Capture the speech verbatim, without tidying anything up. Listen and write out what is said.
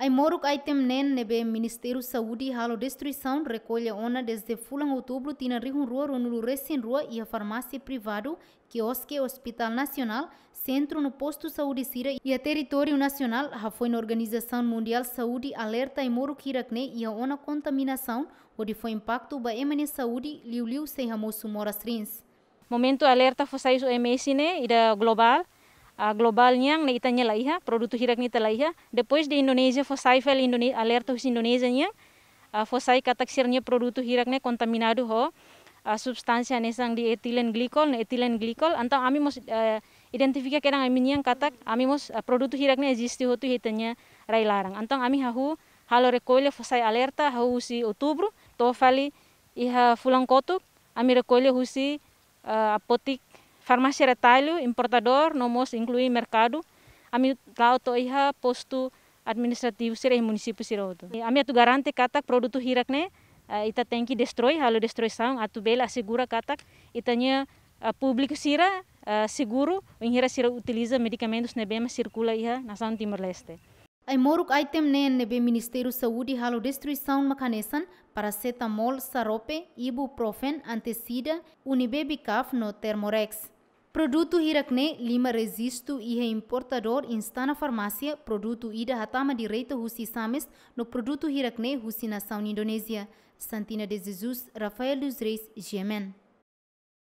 Ai-moruk item neen ne'ebé Ministériu Saúde halo destruisaun rekolla ona dezde fulan Outubru tinan rihun rua ruanulu resin rua iha farmásia privadu, kioske Hospital Nasionál, sentru no postu saúde sira iha territóriu nasionál, hafoin Organizasaun Mundiál Saúde alerta ai-moruk hirak-ne'e iha ona kontaminasaun hodi fó impaktu ba ema nia saúde, liuliu sei hamosu moras rins. Momentu alerta fó sai husi O M S ne'e ida globál, ah, globál nian ne'e ita-nia la iha, produtu hirak-ne'e ita la iha. Depois de Indonézia fó sai fali Indone-, alerta husi Indonézia nian, ah, fó sai katak sira-nia produtu hirak-ne'e kontaminadu ho, ah, substánsia hanesan dietilen glikol, no etilen glikol. Entaun ami mós, eh, identifika kedan ami-nian katak ami mós, ah, produtu hirak-ne'e eziste hotu iha ita-nia rai-laran. Entaun ami hahú halo rekolla fó sai alerta hahú husi Outubru to'o fali iha fulan kotuk, ami rekolla husi, eh, apotek, farmásia retallu, importadór, no mós inklui merkadu. Ami la'o to'o iha postu administrativu sira iha munisípiu sira hotu. Ami atu garante katak produtu hirak-ne'e, eh, ita tenke destroi, halo destruisaun, atu bele asegura katak ita-nia, eh, públiku sira, eh, seguru, bainhira sira utiliza medikamentus ne'ebé mak sirkula iha nasaun Timor-Leste. Ai-moruk item neen ne'ebé Ministériu Saúde halo destruisaun mak hanesan parasetamol xarope, ibuprofen, anti-sida, Unibaby Cup no Thermorex. Produtu hirak-ne'e lima rejistu iha importadór, insta ona farmásia, produtu ida hatama direta husi Sames, no produtu hirak-ne'e husi nasaun Indonézia. Santina de Jesus, Rafael dos Reis, G M N.